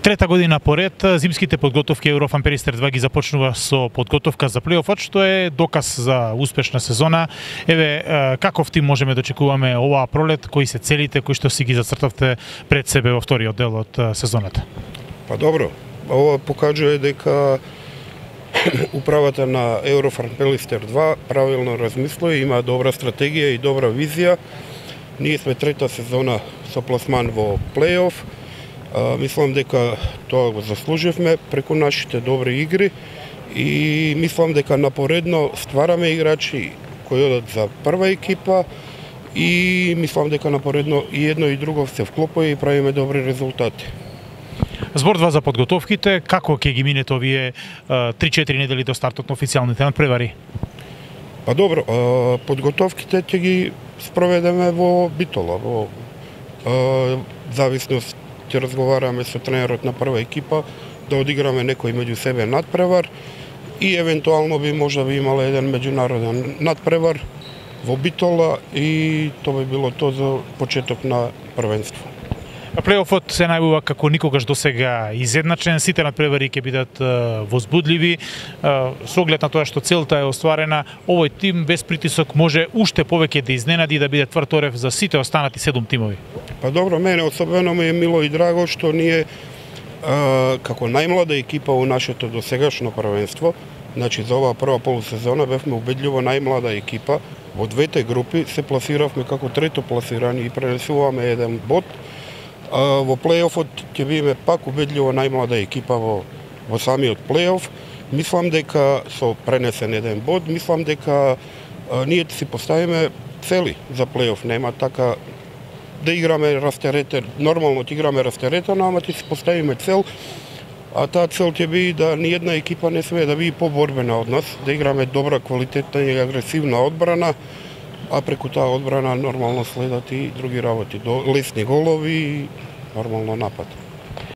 Трета година поред, зимските подготовки Еврофан Перистер 2 ги започнува со подготовка за плейофот, што е доказ за успешна сезона. Еве, каков тим можеме да очекуваме оваа пролет, кои се целите, кои што си ги зацртавте пред себе во вториот дел од сезоната? Па добро, ова покажува дека управата на Еврофан Перистер 2 правилно размислува, има добра стратегија и добра визија. Ние сме трета сезона со пласман во плейоф. Мислам дека тоа го заслуживме преку нашите добри игри и мислам дека напоредно ствараме играчи кои одат за прва екипа и мислам дека напоредно и едно и друго се вклопува и правиме добри резултати. Зборува за подготовките, како ќе ги минете овие 3-4 недели до стартот на официјалните надпревари? Па добро, подготовките ќе ги спроведеме во Битола, во зависност ќе разговараме со тренерот на прва екипа да одиграме некој меѓу себе надпревар и евентуално би можда би имала еден меѓународен надпревар во Битола и тоа би било тоа за почеток на првенство. Плейофот се најавува како никогаш досега изедначен, сите надпревари ќе бидат возбудливи. Со оглед на тоа што целта е остварена, овој тим без притисок може уште повеќе да изненади и да биде тврд орев за сите останати 7 тимови. Па добро, мене особено ми е мило и драго што ние како најмлада екипа во нашето досегашно првенство, значи за оваа прва полусезона бевме убедливо најмлада екипа, во двете групи се пласиравме како трето пласирани и пренесуваме еден бод. Во плейофот ќе биеме пак убедливо најмлада екипа во самиот плейоф. Мислам дека со пренесен еден бод, мислам дека ние си поставиме цели за плейоф, нема така да играме растеретен, нормално ќе играме растеретено, ама ќе си поставиме цел, а таа цел ќе биде да ни една екипа не смее да биде поборбена од нас, да играме добра, квалитетна и агресивна одбрана, а преку таа одбрана нормално следат и други работи, лесни голови и нормално напад.